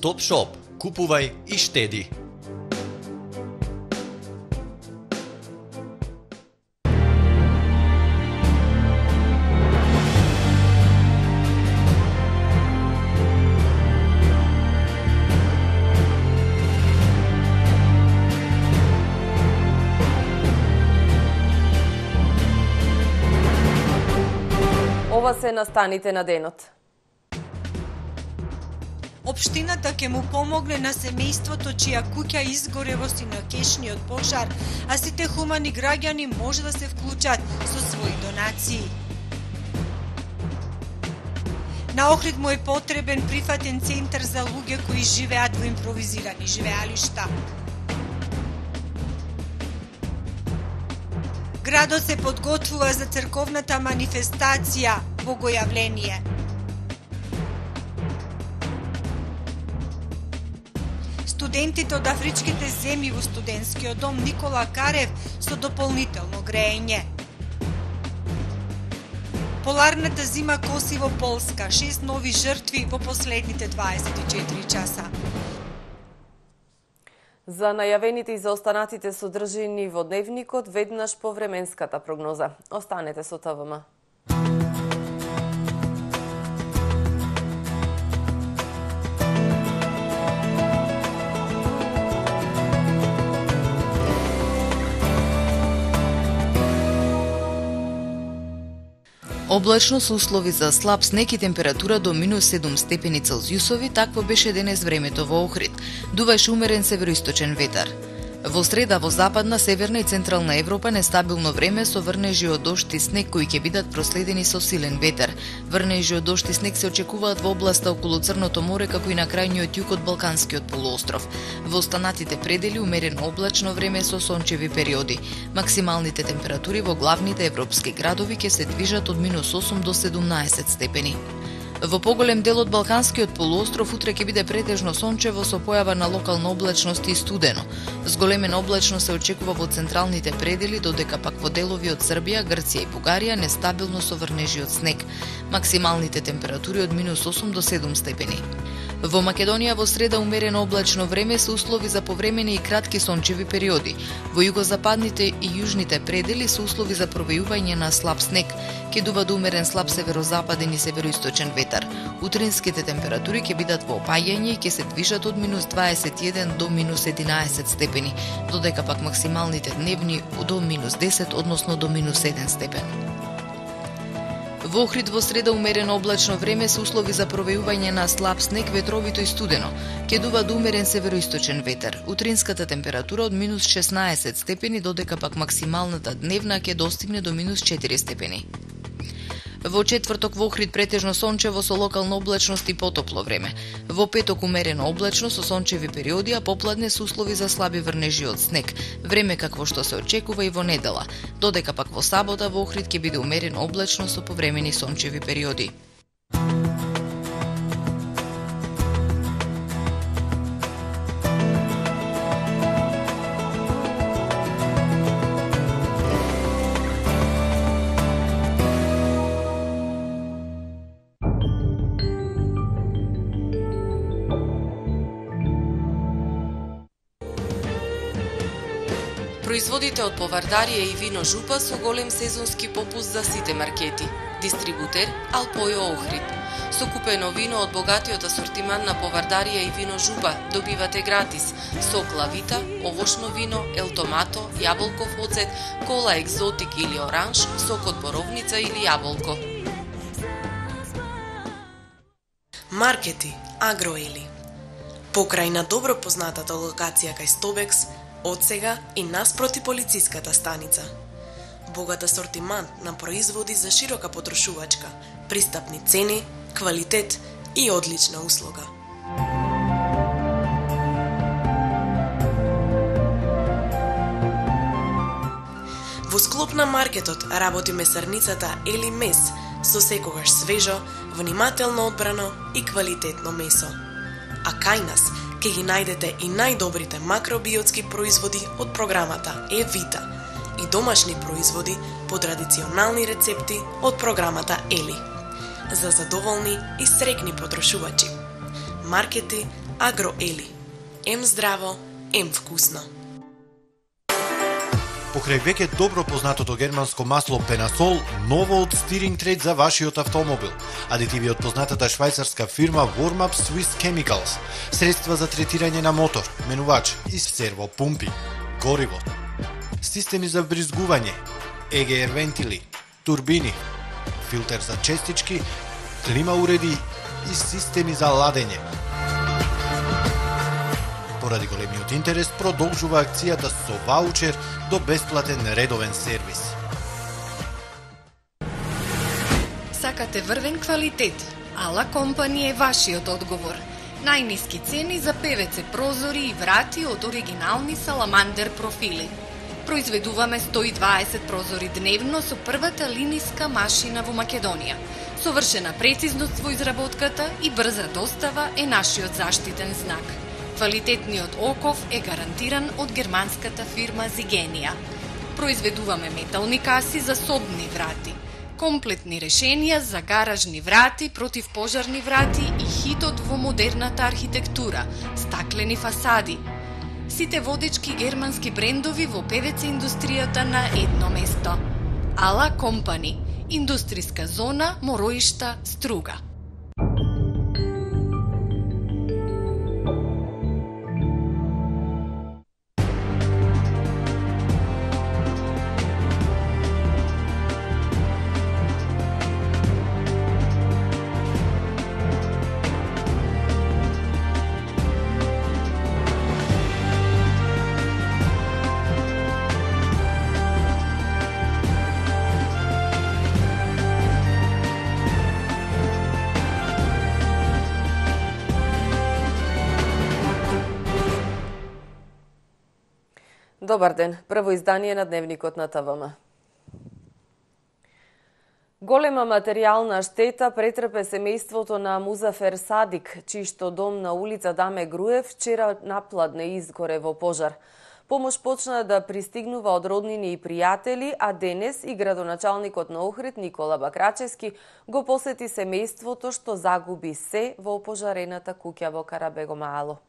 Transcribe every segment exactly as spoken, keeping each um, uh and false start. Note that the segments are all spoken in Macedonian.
Стоп Шоп. Купувај и штеди. Ова се настаните на денот. Општината ќе му помогне на семејството чија куќа изгоре во синокешниот пожар, а сите хумани граѓани може да се вклучат со своји донации. На Охрид му е потребен прифатен центар за луѓе кои живеат во импровизирани живеалишта. Градот се подготвува за црковната манифестација Богојавление. Студентите од афричките земји во студентскиот дом Никола Карев со дополнително грејење. Поларната зима коси во Полска, шест нови жртви во последните дваесет и четири часа. За најавените и за останатите содржини во дневникот, веднаш по временската прогноза. Останете со Т В М. Облачно со услови за слаб снег и температура до минус седум степени Целзиусови, такво беше денес времето во Охрид. Дувајше умерен североисточен ветар. Во среда во западна, северна и централна Европа нестабилно време со врнежи од дожд и снег кои ќе бидат проследени со силен ветер. Врнежи од дожд и снег се очекуваат во областа околу Црното море, како и на крајниот југ од Балканскиот полуостров. Во останатите предели умерено облачно време со сончеви периоди. Максималните температури во главните европски градови ќе се движат од минус осум до седумнаесет степени. Во поголем дел од Балканскиот полуостров утре ќе биде претежно сончево со појава на локална облачност и студено. Зголемена облачност се очекува во централните предели, додека пак во делови од Србија, Грција и Бугарија нестабилно со врнежи од снег. Максималните температури од минус осум до седум степени. Во Македонија во среда умерено облачно време со услови за повремени и кратки сончеви периоди. Во југозападните и јужните предели со услови за провејување на слаб снег. Ќе дува до умерен слаб северозападен и североисточен ветар. Утринските температури ќе бидат во опаѓање и ќе се движат од минус дваесет и еден до минус единаесет степени, додека пак максималните дневни до минус десет, односно до минус еден степен. Во Охрид во среда умерено облачно време со услови за провејување на слаб снег, ветровито и студено. Ќе дува до умерен североисточен ветер. Утринската температура од минус шеснаесет степени, додека пак максималната дневна ќе достигне до минус четири степени. Во четврток во Охрид претежно сончево со локална облачност и потопло време. Во петок умерено облачно со сончеви периоди, а попладне со услови за слаби врнежи од снег. Време какво што се очекува и во недела. Додека пак во сабота во Охрид ќе биде умерено облачно со повремени сончеви периоди. Производите од повардарија и вино Жупа со голем сезонски попуст за сите маркети. Дистрибутер Алпојо Охрид. Со купено вино од богатиот асортиман на повардарија и вино Жупа добивате гратис сок лавита, овошно вино, ел томато, јаболков оцет, кола екзотик или оранж, сок од боровница или јаболко. Маркети Агроели. Покрај на добро познатата локација кај Стобекс, од сега и наспроти полициската станица. Богат асортиман на производи за широка потрошувачка, пристапни цени, квалитет и одлична услуга. Во склоп на маркетот работи месарницата Ели Мес со секогаш свежо, внимателно одбрано и квалитетно месо. А кај нас ќе ги најдете и најдобрите макробиотски производи од програмата Евита и домашни производи по традиционални рецепти од програмата Ели. За задоволни и срекни потрошувачи. Маркети Агроели. Ем здраво, ем вкусно. Покрај веќе добро познатото германско масло Пенасол, ново од Steering Trade за вашиот автомобил. Адитиви од познатата швајцарска фирма Warm-Up Swiss Chemicals, средства за третирање на мотор, менувач и сервопумпи, гориво, системи за вбризгување, и джи ар вентили, турбини, филтер за честички, клима уреди и системи за ладење. Поради големиот интерес, продолжува акцијата со ваучер до бесплатен редовен сервис. Сакате врвен квалитет? Ала Компани е вашиот одговор. Најниски цени за пе ве це прозори и врати од оригинални саламандер профили. Произведуваме сто и дваесет прозори дневно со првата линиска машина во Македонија. Совршена прецизност во изработката и брза достава е нашиот заштитен знак. Квалитетниот оков е гарантиран од германската фирма Зигенија. Произведуваме метални каси за собни врати, комплетни решенија за гаражни врати, противпожарни врати и хитот во модерната архитектура, стаклени фасади. Сите водечки германски брендови во пе ве це индустријата на едно место. Ала Компани, индустријска зона Мороишта, Струга. Добар ден, прво издание на Дневникот на те вэ ем. Голема материјална штета претрпе семејството на Музафер Садик, чијшто дом на улица Даме Груев вчера напладне изгоре во пожар. Помош почна да пристигнува од роднини и пријатели, а денес и градоначалникот на Охрид Никола Бакрачевски го посети семејството што загуби се во опожарената куќа во Карабегомаало.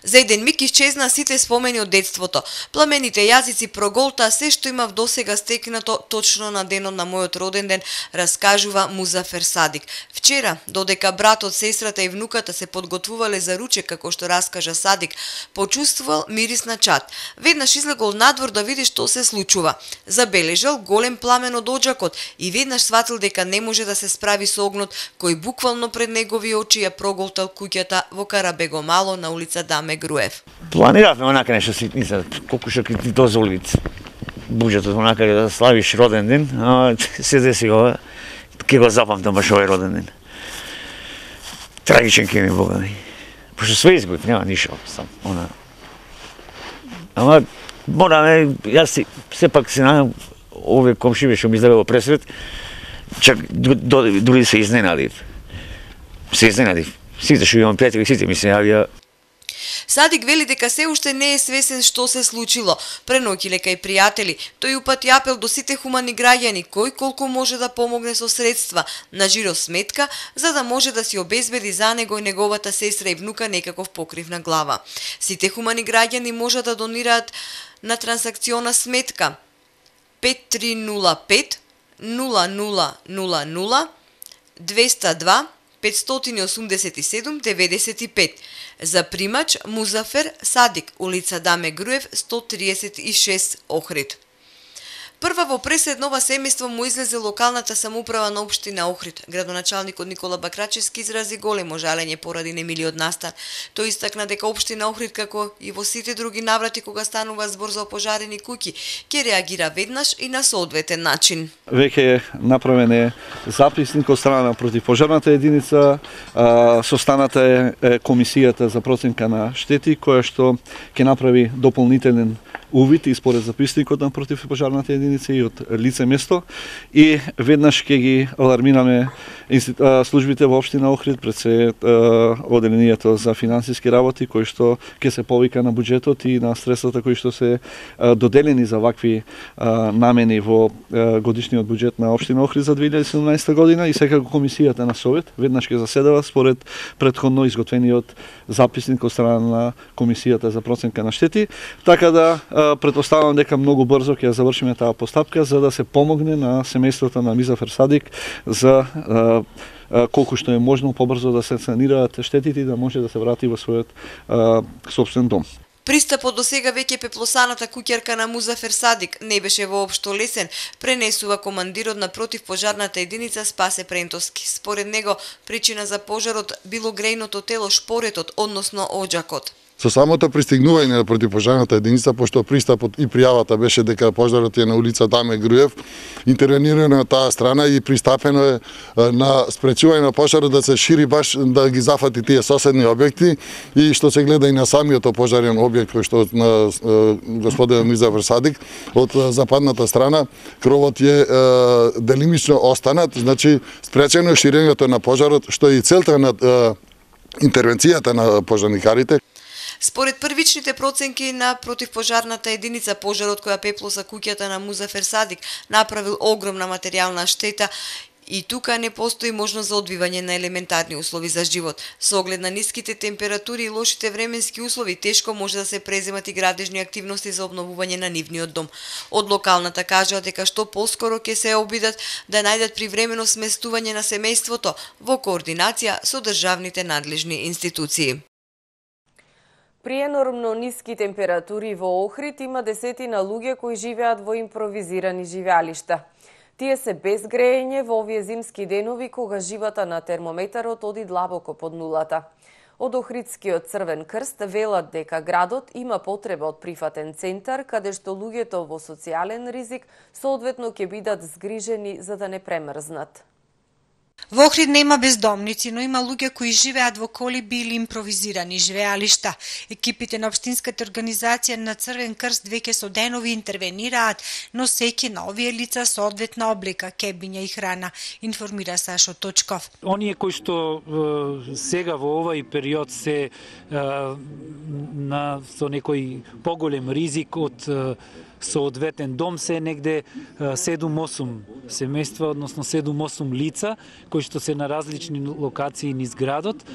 За еден миг исчезна сите спомени од детството. Пламените јазици проголта се што имав досега стекнато точно на денот на мојот роден ден, раскажува Музафер Садик. Вчера, додека братот, сестрата и внуката се подготвувале за ручек, како што раскажа Садик, почувствувал мирис на чад. Веднаш излегол надвор да види што се случува. Забележал голем пламен од оџакот и веднаш сватил дека не може да се справи со огнот кој буквално пред негови очи ја проголтал куќата во Карабегомаало на улица Даме Груев. Планиравме онака нешто ситница, колку што ти дозволи буџетот онака да славиш роден ден, а се деси ова, ќе го запамтам баш овој роден ден. Трагичен ке ми Бога. Пошто све изгубив, нема ништо сам, она. Ама мораме, јас си сепак се најам овие комшиве што ми излегло пресред, чак дури се изненадив. Се изненадив. Сите што имам пријатели, сите ми се јавија. Садик вели дека се уште не е свесен што се случило. Преноќиле кај пријатели, тој упати апел до сите хумани граѓани кој колку може да помогне со средства на жиро сметка, за да може да си обезбеди за него и неговата сестра и внука некаков покрив на глава. Сите хумани граѓани може да донираат на трансакциона сметка пет три нула пет нула нула нула нула двеста два петстотини осумдесет и седум деветдесет и пет. За примач Музафер Садик, улица Даме Груев сто триесет и шест Охрид. Прва во пресед нова семејство му излезе локалната самоуправа на општина Охрид. Градоначалникот Никола Бакрачевски изрази големо жалење поради немилиот настан. Тој истакна дека општина Охрид, како и во сите други наврати кога станува збор за опожарени куќи, ќе реагира веднаш и на соодветен начин. Веќе направен е записник од страна на противпожарната единица, состаната е комисијата за проценка на штети, која што ќе направи дополнителен увид и според записникот на противпожарната единица и од лице место и веднаш ќе ги алармираме службите во општина Охрид пред се оделението за финансиски работи кои што ќе се повика на буџетот и на средствата кои што се доделени за вакви намени во годишниот буџет на општина Охрид за две илјади и седумнаесета година и секако комисијата на совет веднаш ќе заседава според претходно изготвениот записник од страна на комисијата за проценка на штети, така да претпоставувам дека многу брзо ќе завршиме таа постапка за да се помогне на семејството на Мизафер Садик за колку што е можно побрзо да се санираат штетите и да може да се врати во својот сопствен дом. Пристапот до сега веќе пеплосаната куќарка на Музафер Садик не беше воопшто лесен, пренесува командирот на противпожарната единица Спасе Прентовски. Според него, причина за пожарот било грејното тело шпоретот, односно оџакот. Со самото пристигнување на противпожарната единица, пошто пристапот и пријавата беше дека пожарот е на улица Даме Груев, интервенирано на таа страна и пристапено е на спречување на пожарот да се шири баш да ги зафати тие соседни објекти и што се гледа и на самиот пожарен објект кој што на господин Мизафер Садик од западната страна кровот е делимично останат, значи спречено е ширењето на пожарот што е и целта на интервенцијата на пожарникарите. Според првичните проценки на противпожарната единица, пожарот која пеплоса куќата на Музафер Садик направил огромна материјална штета и тука не постои можност за одвивање на елементарни услови за живот. Со оглед на ниските температури и лошите временски услови, тешко може да се преземат и градежни активности за обновување на нивниот дом. Од локалната кажаа дека што поскоро ќе се обидат да најдат привремено сместување на семејството во координација со државните надлежни институции. При енормно ниски температури во Охрид има десетина луѓе кои живеат во импровизирани живеалишта. Тие се без грејење во овие зимски денови кога живата на термометарот оди длабоко под нулата. Од Охридскиот Црвен крст велат дека градот има потреба од прифатен центар каде што луѓето во социјален ризик соодветно ќе бидат згрижени за да не премрзнат. Во Охрид нема бездомници, но има луѓе кои живеат во колиби или импровизирани живеалишта. Екипите на општинската организација на Црвен крст веќе со денови интервенираат, но сеќе на овие лица соодветна облека, кебиња и храна, информира Сашо Точков. Оние кои што е, сега во овој период се е, на со некој поголем ризик од е, соодветен дом се негде седум-осум семејства, односно седум-осум лица кои што се на различни локации низ градот.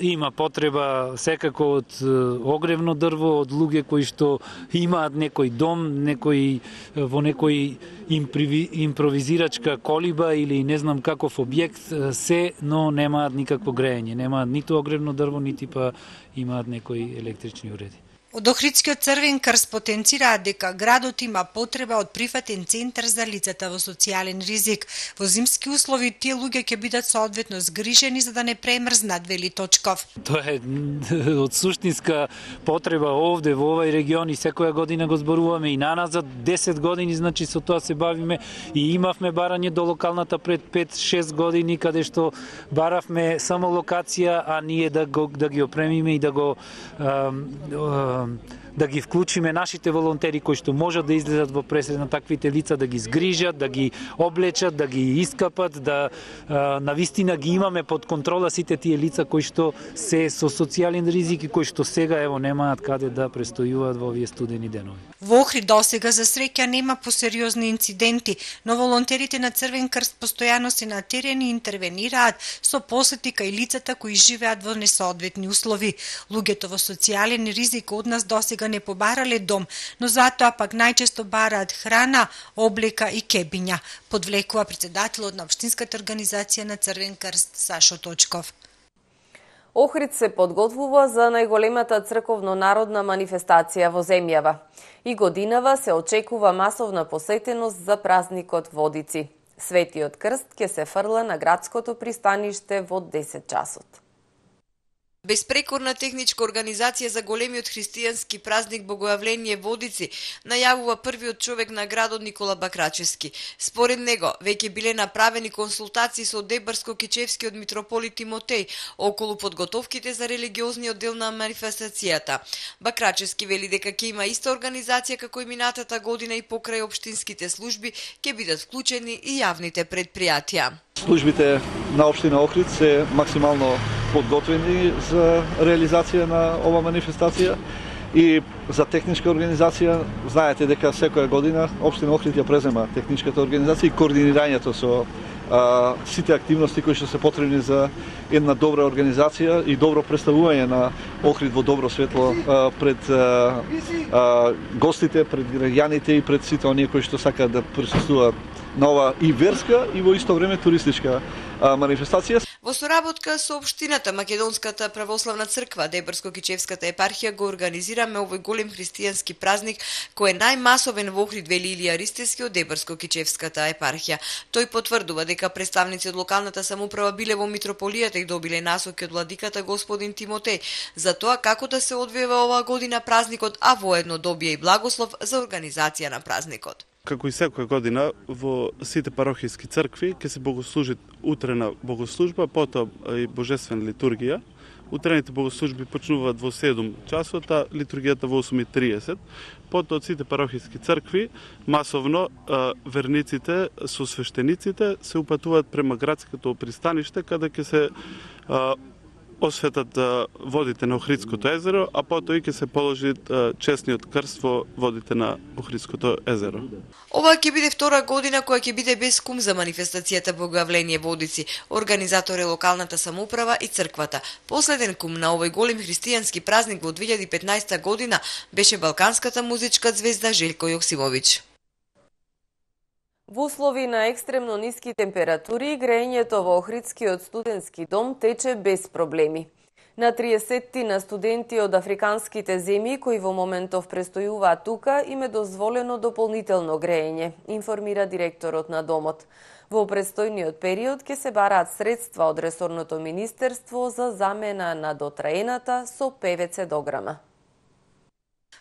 Има потреба секако од огревно дрво, од луѓе кои што имаат некој дом, некој во некој импровизирачка колиба или не знам каков објект се, но немаат никакво грејење, немаат ниту огревно дрво, нити па имаат некои електрични уреди. Од Охридскиот Црвен крст потенцираат дека градот има потреба од прифатен центар за лицата во социјален ризик. Во зимски услови тие луѓе ќе бидат соодветно згрижени за да не премрзнат, вели Точков. Тоа е од суштинска потреба овде во овој регион и секоја година го зборуваме и наназад десет години, значи со тоа се бавиме и имавме барање до локалната пред пет-шест години каде што баравме само локација, а ние да го да ги опремиме и да го а, а, да ги вклучиме нашите волонтери кои што можат да излезат во пресред на таквите лица, да ги згрижат, да ги облечат, да ги искапат, да а, навистина ги имаме под контрола сите тие лица кои што се со социјален ризик и кои што сега ево немаат каде да престојуваат во овие студени денови. Во Охрид досега за среќа нема посериозни инциденти, но волонтерите на Црвен крст постојано се на терен и интервенираат со посети кај лицата кои живеат во несоодветни услови. Луѓето во социјален ризик од нас досега не побарале дом, но затоа пак најчесто бараат храна, облека и кебиња, подвлекува председателот на општинската организација на Црвен крст Сашо Точков. Охрид се подготвува за најголемата црковно-народна манифестација во земјава. И годинава се очекува масовна посетеност за празникот Водици. Светиот крст ќе се фрла на градското пристаниште во десет часот. Беспрекорна техничка организација за големиот христијански празник Богојавление Водици најавува првиот човек на градот Никола Бакрачевски. Според него, веќе биле направени консултации со Дебарско-Кичевскиот митрополит Тимотеј околу подготовките за религиозниот дел на манифестацијата. Бакрачевски вели дека ќе има иста организација како и минатата година и покрај општинските служби ќе бидат вклучени и јавните предпријатија. Службите на општина Охрид се максимално подготвени за реализација на ова манифестација и за техничка организација. Знаете дека секоја година општина Охрид ја презема техничката организација и координирањето со а, сите активности кои што се потребни за една добра организација и добро представување на Охрид во добро светло а, пред а, а, гостите, пред граѓаните и пред сите оние кои што сакаат да присуствуваат на ова и верска и во исто време туристичка а, манифестација. Во соработка со општината, Македонската православна црква, Дебарско-Кичевската епархија го организираме овој голем христијански празник кој е најмасовен во Охрид, вели Илија Ристевски од Дебарско-Кичевската епархија. Тој потврдува дека представници од локалната самоуправа биле во митрополијата и добиле насоки од владиката господин Тимотеј за тоа како да се одвива оваа година празникот, а воедно добија и благослов за организација на празникот. Како и секоја година во сите парохиски цркви ќе се богослужи утрена богослужба, потоа и божествена литургија. Утрените богослужби почнуваат во седум часот, а литургијата во осум и триесет. Потоа од сите парохиски цркви масовно верниците со свештениците се упатуваат према градското пристаниште каде ќе се осветат водите на Охридското езеро, а потоа и ќе се положи честниот крст во водите на Охридското езеро. Ова ќе биде втора година која ќе биде без кум за манифестацијата Богојавление Водици. Организатор е локалната самоуправа и црквата. Последен кум на овој голем христијански празник во две илјади и петнаесета година беше балканската музичка звезда Желко Јоксимовиќ. Во услови на екстремно ниски температури, грејењето во Охридскиот студентски дом тече без проблеми. На триесеттина студенти од африканските земји кои во моментов престојуваат тука им е дозволено дополнително грејење, информира директорот на домот. Во престојниот период ќе се бараат средства од ресорното министерство за замена на дотраената со ПВЦ дограма.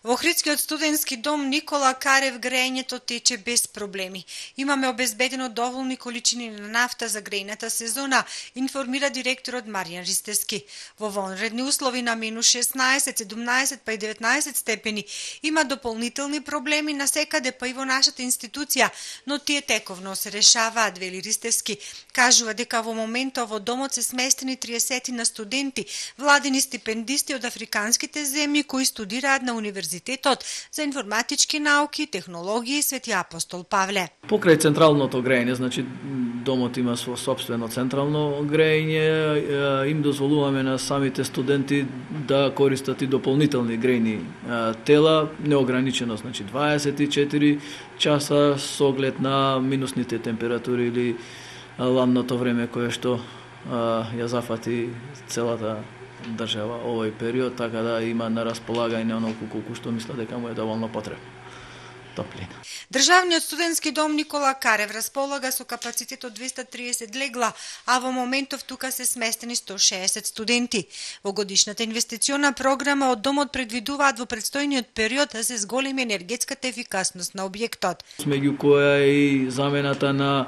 Во Охридскиот студентски дом Никола Карев грејењето тече без проблеми. Имаме обезбедено доволни количини на нафта за грејната сезона, информира директорот Маријан Ристевски. Во вонредни услови на минус шеснаесет, седумнаесет па и деветнаесет степени има дополнителни проблеми на секаде па и во нашата институција, но тие тековно се решаваат, вели Ристевски. Кажува дека во моментот во домот се сместени триесет на студенти, владини стипендисти од африканските земји кои студираат на универзитетот за информатички науки, технологии Свети Апостол Павле. Покрај централното грејење, значи домот има свој собствено централно грејење, им дозволуваме на самите студенти да користат и дополнителни грејни тела, неограничено, значи дваесет и четири часа со оглед на минусните температури или ладното време кое што ја зафати целата држава овој период, така да има на располагање онолку колку што мисля дека му е доволно потребно топлина. Државниот студентски дом Никола Карев располага со капацитет од двеста триесет легла, а во моментов тука се сместени сто шеесет студенти. Во годишната инвестициона програма од домот предвидуваат во предстојниот период да се зголеми енергетската ефикасност на објектот. Меѓу која е и замената на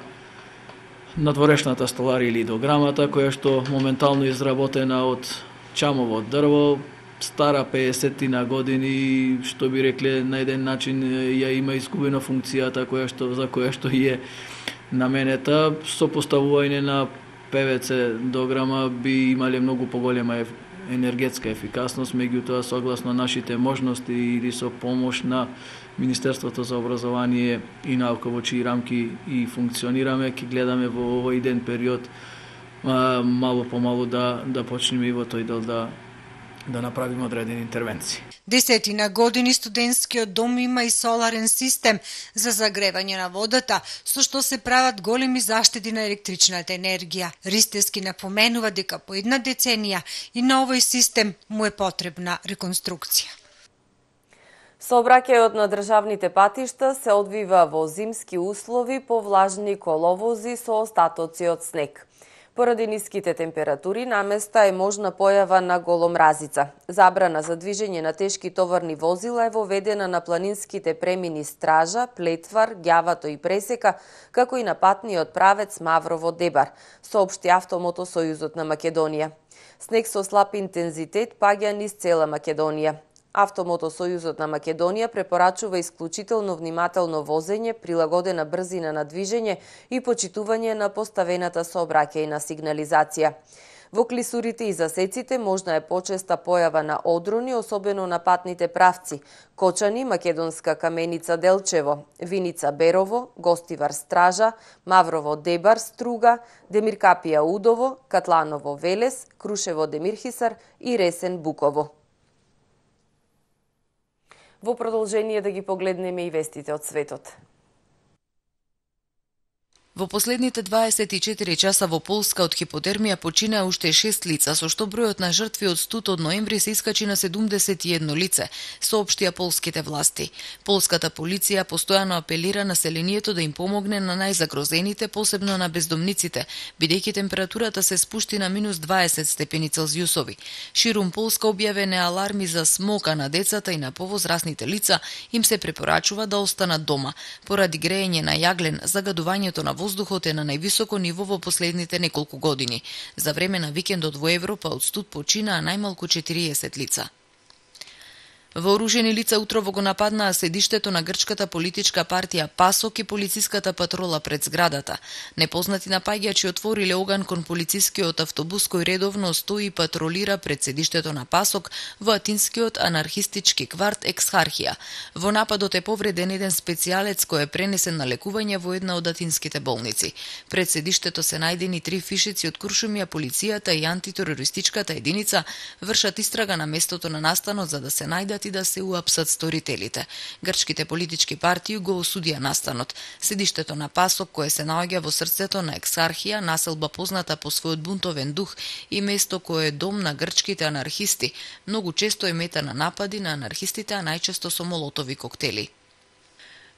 надворешната столарија или дограмата, која што моментално изработена од чамово дрво, стара пеесеттина години, што би рекле на еден начин ја има изгубена функцијата која што за која што е наменета. Со поставување на ПВЦ дограма би имале многу поголема енергетска ефикасност, меѓутоа согласно нашите можности или со помош на Министерството за образование и наука во чии рамки и функционираме, ќе гледаме во овој ден период мало по мало да да почнеме и во тој дел да да направиме одредени интервенции. Десетина години студентскиот дом има и соларен систем за загревање на водата, со што се прават големи заштеди на електричната енергија. Ристевски напоменува дека по една деценија и на овој систем му е потребна реконструкција. Сообраќајот на државните патишта се одвива во зимски услови по влажни коловози со остатоци од снег. Поради ниските температури, наместа е можна појава на голомразица. Забрана за движење на тешки товарни возила е воведена на планинските премини Стража, Плетвар, Ѓавато и Пресека, како и на патниот правец Маврово-Дебар, соопшти Автомотосојузот на Македонија. Снег со слаб интензитет паѓа низ цела Македонија. Автомотосојузот на Македонија препорачува исклучително внимателно возење, прилагодена брзина на движење и почитување на поставената сообраќајна сигнализација. Во клисурите и засеците можна е почеста појава на одрони, особено на патните правци: Кочани, Македонска Каменица Делчево, Виница Берово, Гостивар Стража, Маврово Дебар Струга, Демиркапија Удово, Катланово Велес, Крушево Демирхисар и Ресен Буково. Во продолжение да ги погледнеме и вестите од светот. Во последните дваесет и четири часа во Полска од хипотермија починаа уште шест лица, со што бројот на жртви од студ од ноември се искачи на седумдесет и едно лице, соопштија полските власти. Полската полиција постојано апелира населението да им помогне на најзагрозените, посебно на бездомниците, бидејќи температурата се спушти на минус дваесет степени Целзиусови. Ширум Полска објавени аларми за смока на децата и на повозрасните лица им се препорачува да останат дома. Поради греење на јаглен, загадувањето на воздухот е на највисоко ниво во последните неколку години. За време на викендот во Европа од студ починаа најмалку четириесет лица. Вооружени лица утрово го нападнаа седиштето на грчката политичка партија ПАСОК и полициската патрола пред зградата. Непознати напаѓачи отвориле оган кон полицискиот автобус кој редовно стои и патролира пред седиштето на ПАСОК во атинскиот анархистички кварт Ексархија. Во нападот е повреден еден специјалец кој е пренесен на лекување во една од атинските болници. Пред седиштето се најдени три фишици од Куршумија, полицијата и антитерористичката единица вршат истрага на местото на настанот за да се најдат и да се уапсат сторителите. Грчките политички партии го осудија настанот. Седиштето на ПАСОК, кое се наоѓа во срцето на Ексархија, населба позната по својот бунтовен дух и место кое е дом на грчките анархисти, многу често е мета на напади на анархистите, а најчесто со молотови коктели.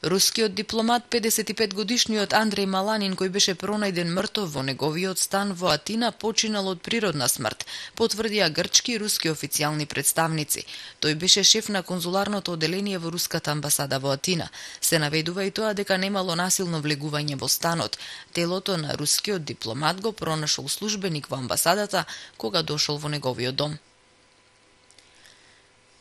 Рускиот дипломат, педесет и пет годишниот Андреј Маланин, кој беше пронајден мртов во неговиот стан во Атина, починал од природна смрт, потврдија грчки и руски официјални представници. Тој беше шеф на конзуларното оделение во руската амбасада во Атина. Се наведува и тоа дека немало насилно влегување во станот. Телото на рускиот дипломат го пронашол службеник во амбасадата кога дошол во неговиот дом.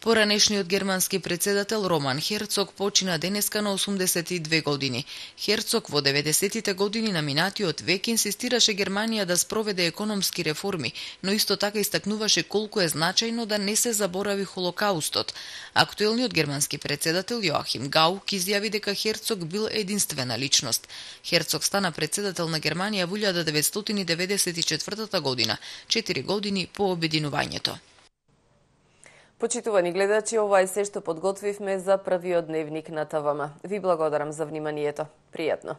Поранешниот германски председател Роман Херцог почина денеска на осумдесет и две години. Херцог во деветдесетите години на минатиот век инсистираше Германија да спроведе економски реформи, но исто така истакнуваше колку е значајно да не се заборави Холокаустот. Актуелниот германски председател Јоахим Гаук изјави дека Херцог бил единствена личност. Херцог стана председател на Германија во илјада деветстотини деветдесет и четвртата година, четири години по обединувањето. Почитувани гледачи, ова е се што подготвивме за првиот дневник на ТВМ. Ви благодарам за вниманието. Пријатно.